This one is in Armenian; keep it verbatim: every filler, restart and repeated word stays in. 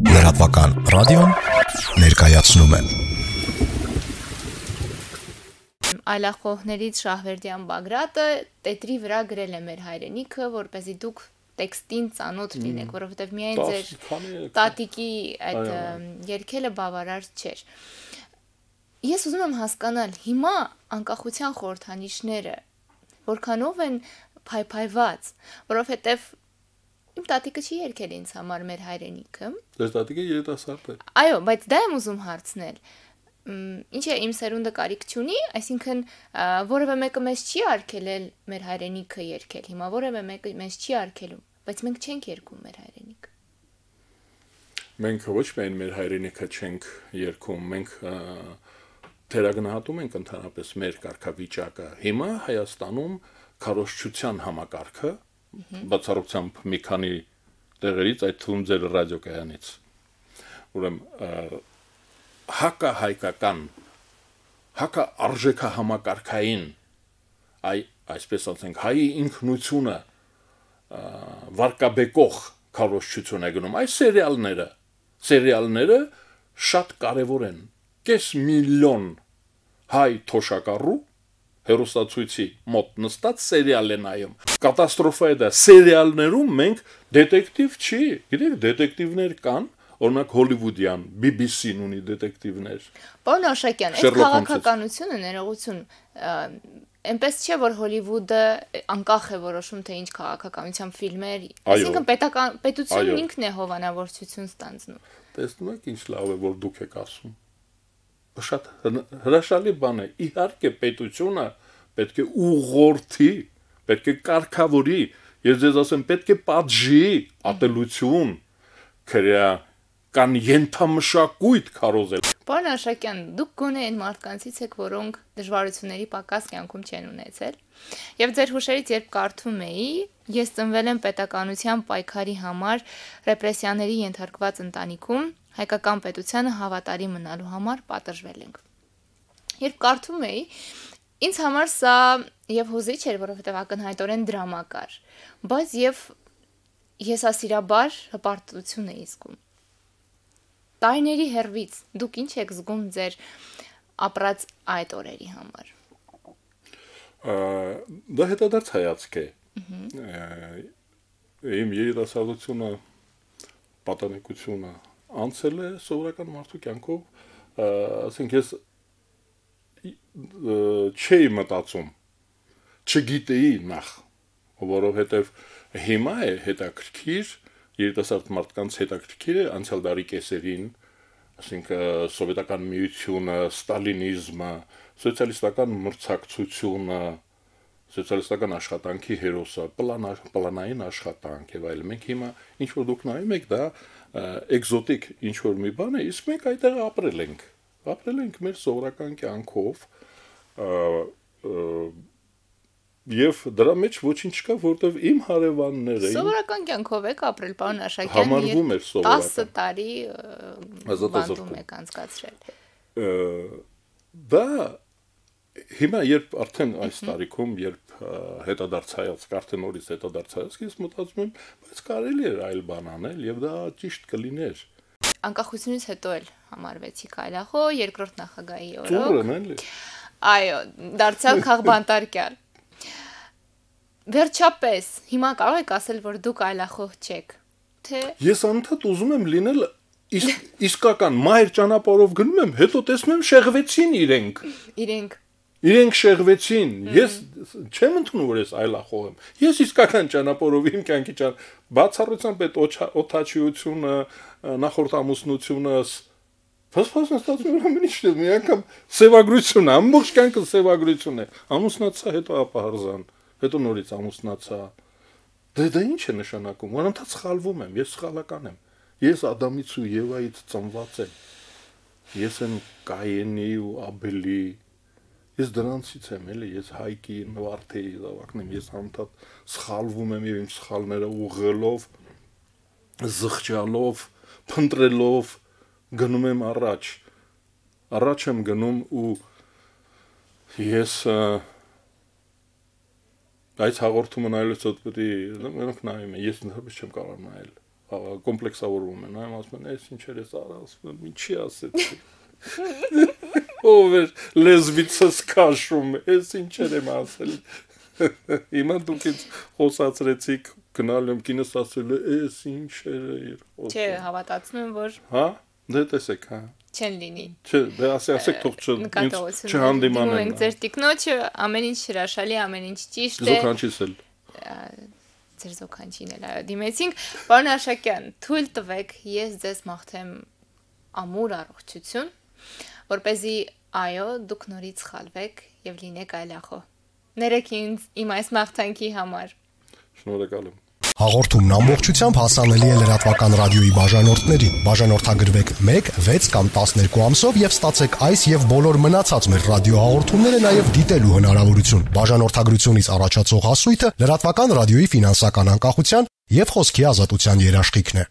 Լրատվական ռադիոն ներկայացնում է Այլախոհներից Շահվերդյան Բագրատը տետրի վրա գրել է մեր հայրենիքը, որպեսզի դուք տեքստին ծանոթ լինեք, որովհետև միայն ձեր տատիկի այդ երգելը բավարար չէր։ Ես ուզում եմ հասկանալ, հիմա անկախության խորհրդանիշները որքանով են փայփայված, որովհետև իմ տատիկը չի երգել ինձ համար մեր հայրենիքը։ Ձեր տատիկը երիտասարդ է։ Այո, բայց դա եմ ուզում հարցնել։ Ինչ է իմ սերունդը կարիք չունի, այսինքն որևէ մեկը մեզ չի արգելել մեր հայրենիքը երգել, հիմա որևէ մեկը մեզ չի արգելում, բայց մենք չենք երգում մեր հայրենիքը։ Մենք ոչ միայն մեր հայրենիքը չենք երգում, մենք թերագնահատում ենք ընդհանրապես մեր կարգավիճակը։ Հիմա Հայաստանում քարոզչության համակարգը բացառությամբ մի քանի տեղերից, այդ թվում ձեր ռադիոկայանից, ուրեմն հակահայկական, հակաարժեքահամակարգային, այ այսպես ասենք, հայի ինքնությունը վարկաբեկող քարոզչություն է գնում, այս սերիալները, սերիալները շատ կարևոր են, կես միլիոն հայ թոշակառու հերոստացույցի մոտ նստած սերիալ է նայում։ Կատաստրոֆա է դա, սերիալներում մենք դետեկտիվ չի, գիտեք, դետեկտիվներ կան, օրինակ հոլիվուդյան, բի բի սին ունի դետեկտիվներ։ Պարոն Աշակյան, այդ քաղաքականությունը ներողություն, այնպես չէ, որ Հոլիվուդը անկախ է որոշում, թե ինչ քաղաքականությամբ ֆիլմեր, այսինքն պետական պետությունն ինքն է հովանավորչություն ստանձնում։ Տեսնում եք ինչ լավ է, որ դուք եք ասում։ Շատ հրաշալի բան է, իհարկե պետությունը պետք է ուղղորդի, պետք է կարգավորի, ես ձեզ ասեմ, պետք է պատժի, ատելություն, քրեա կան ենթամշակույթ քարոզել։ Պարոն Աշակյան, դուք գոնե այն մարդկանցից եք, որոնք դժվարությունների պակաս կյանքում չեն ունեցել, եւ ձեր հուշերից երբ կարդում էի, ես ծնվել եմ պետականության պայքարի համար ռեպրեսիաների ենթարկված ընտանիքում, հայկական պետությանը հավատարիմ մնալու համար պատժվել ենք։ Երբ կարդում էի, ինձ համար սա եւ հուզիչ էր, որովհետեւ ակնհայտորեն դրամակար, բայց եւ եսասիրաբար հպարտություն էի զգում։ Տարիների հեռվից դուք ինչ եք զգում ձեր ապրած այդ օրերի համար։ Դա հետադարձ հայացք է։ Իմ երիտասարդությունը, պատանեկությունը անցել է սովորական մարդու կյանքով, ասենք ես չէի մտածում, չգիտեի նախ, որովհետև հիմա է հետաքրքիր, երիտասարդ մարդկանց հետաքրքիր է անցյալ դարի կեսերին, ասենք սովետական միությունը, ստալինիզմը, սոցիալիստական մրցակցությունը, սոցիալիստական աշխատանքի հերոսը, պլանային աշխատանք եւ այլն։ Մենք հիմա ինչ որ դուք նայում եք, դա էկզոտիկ ինչ որ մի բան է, իսկ մենք այդտեղ ապրել ենք։ Ապրել ենք մեր սովորական կյանքով, եւ դրա մեջ ոչինչ չկա, որտեվ իմ հարևանները սովորական կյանքով եք ապրել, պարոն Աշակյան, համարվում էր սովորական տասը տարի բանտում եք անցկացրել։ Դա հիմա երբ արդեն այս տարիքում, երբ հետադարձ հայացք, արդեն նորից հետադարձ հայացք, ես մտածում եմ, բայց կարելի էր այլ բան անել եւ դա ճիշտ կլիներ։ Անկախությունից հետո էլ համարվեցիք այլախոհ, երկրորդ նախագահի օրոք։ Ծուրն էլի։ Այո, դարձյալ քաղբանտարկյալ։ Վերջապես, հիմա կարող եք ասել, որ դուք այլախոհ չեք, թե… Ես անընդհատ ուզում եմ լինել իսկական մայր ճանապարհով գնում եմ, հետո տեսնում եմ շեղվեցին իրենք։ Իրենք։ Իրենք շեղվեցին։ Ես չեմ ընդունում, որ ես այլախոհ եմ։ Ես իսկական ճանապարհով իմ կյանքի ճան բացառությամբ այդ օթաչիությունը, նախորդ ամուսնությունս Փասփասն ստացվում է ամեն ինչ, մի անգամ սևագրություն, ամբողջ կյանքը սևագրություն է։ Ամուսնացա, հետո ապահարզան, հետո նորից ամուսնացա։ Դե դա ինչ է նշանակում։ Անընդհատ սխալվում եմ, ես սխալական եմ։ Ես Ադամից ու Եվայից ծնված եմ։ Ես եմ Կայենի ու Աբելի։ Ես դրանցից եմ, էլի, ես Հայկի, Նվարդեի զավակն եմ, ես անընդհատ սխալվում եմ եւ իմ սխալները ուղղելով, զղջալով, փնտրելով գնում եմ առաջ, առաջ եմ գնում ու ես այս հաղորդումը նայելուց հետո պետք է նայում եմ, ես ընդհանրապես չեմ կարող նայել, կոմպլեքսավորվում են, այո, ասում են, «Էս ինչեր ես արել», ասում եմ, «Ինչի ասեցի»։ Ով է լեզվիցս քաշում, «Էս ինչեր եմ ասել»։ Հիմա դուք ինձ խոսացրեցիք, գնալ եմ կինս ասել է, «Էս ինչեր է»։ Չէ, հավատացնում եմ, որ Հա, դե տեսեք, հա։ չեն լինի։ Չէ, դե ասի, ասեք թող չհանդիմանեն։ Մենք ձեր տիկնոջը ամեն ինչ հրաշալի, ամեն ինչ ճիշտ է։ Զոքանչից էլ։ Ձեր զոքանչին էլ այո դիմեցինք։ Պարոն Աշակյան, թույլ տվեք, ես ձեզ մաղթեմ ամուր առողջություն, որպեսզի այո, դուք նորից խալվեք եւ լինեք այլախոհ։ Ներեք ինձ իմ այս մաղթանքի համար։ Շնորհակալ եմ։ Հաղորդումն ամբողջությամբ հասանելի է լրատվական ռադիոյի բաժանորդներին։ Բաժանորդագրվեք մեկ, վեց կամ տասներկու ամսով եւ ստացեք այս եւ բոլոր մնացած մեր ռադիոհաղորդումները նաեւ դիտելու հնարավորություն։ Բաժանորդագրությունից առաջացող հասույթը լրատվական ռադիոյի ֆինանսական անկախության եւ խոսքի ազատության երաշխիքն է։